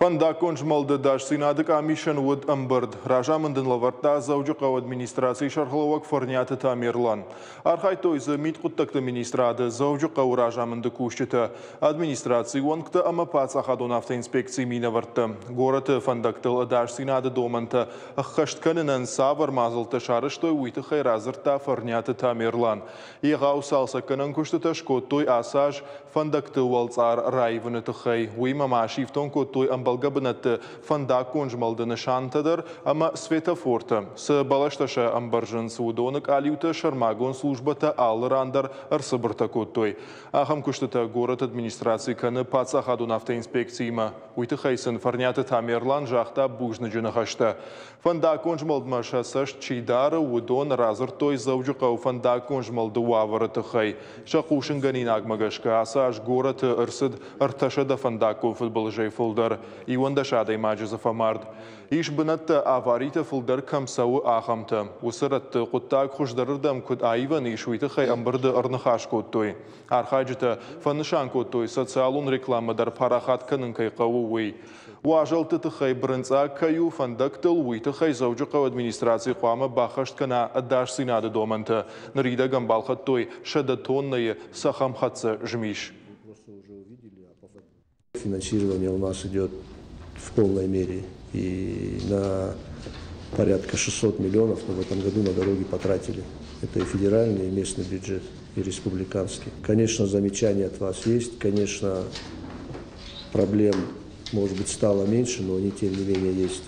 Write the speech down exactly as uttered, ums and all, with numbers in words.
Фӕндаггон змӕлды ӕдасдзинады къамисӕн уыд ӕмбырд. Разамынд ын лӕвӕрдта Дзӕуджыхъӕуы администрацийы сӕргълӕууӕг Фӕрниаты Тамерлан. Архайдтой дзы мидхъуыддӕгты министрады, Дзӕуджыхъӕуы разамынды кусджытӕ, администрацийы уӕнгтӕ ӕмӕ паддзахадон автоинспекцийы минӕвӕрттӕ. Горӕты фӕндӕгтыл ӕдасдзинады домӕнтӕ ӕххӕст кӕнынӕн цавӕр мадзӕлттӕ сарӕзтой, уый тыххӕй радзырдта Фӕрниаты Тамерлан. Егъау цалцӕггӕнӕн куыстытӕ скодтой ацы аз фӕндӕгты уӕлцъар раивыны тыххӕй. Уыимӕ ма сифтонг кодтой ӕмбӕлгӕ бынӕтты фӕндаггон змӕлды нысантӕ дӕр ӕмӕ светофортӕ. Цы бӕлӕстӕ сӕ ӕмбӕрзынц, уыдоны къалиутӕ сӕрмагонд службӕтӕ алы ран дӕр ӕрцыбыртӕ кодтой. Ахӕм куыстытӕ горӕты администраци кӕны паддзахадон автоинспекциимӕ. Уый тыххӕй сын Фӕрниаты Тамерлан загъта бузныджы ныхӕстӕ. Фӕндаггон змӕлдмӕ сӕ цӕст чи дары, уыдон радзырдтой Дзӕуджыхъӕуы фӕндаггон змӕлды уавӕры тыххӕй. Сӕ хъусынгӕнинагмӕ гӕсгӕ ацы аз горӕты ӕрцыд ӕртӕсӕдӕ фӕндаггон фыдбылызӕй фылдӕр. Иуӕндӕс адӕймаджы дзы фӕмард. Ис бынӕттӕ, аваритӕ фылдӕр кӕм цӕуы, ахӕмтӕ. Уыцы рӕтты хъуыддаг хуыздӕрырдӕм куыд аивӕн ис, уый тыххӕй ӕмбырды ӕрныхас кодтой. Архайджытӕ фӕнысан кодтой, социалон рекламӕ дӕр парахат кӕнын кӕй хъӕуы, уый. Уазӕлтты тыххӕй бырынцъаг кӕй у фӕндӕгтыл, уый тыххӕй Дзӕуджыхъӕуы администраци хъуамӕ баххӕст кӕна ӕдасдзинады домӕнтӕ. Ныридӕгӕн балхӕдтой сӕдӕ тоннӕйы цӕхӕмхӕццӕ змис. Финансирование у нас идет в полной мере. И на порядка шестисот миллионов мы в этом году на дороги потратили. Это и федеральный, и местный бюджет, и республиканский. Конечно, замечания от вас есть. Конечно, проблем, может быть, стало меньше, но они, тем не менее, есть.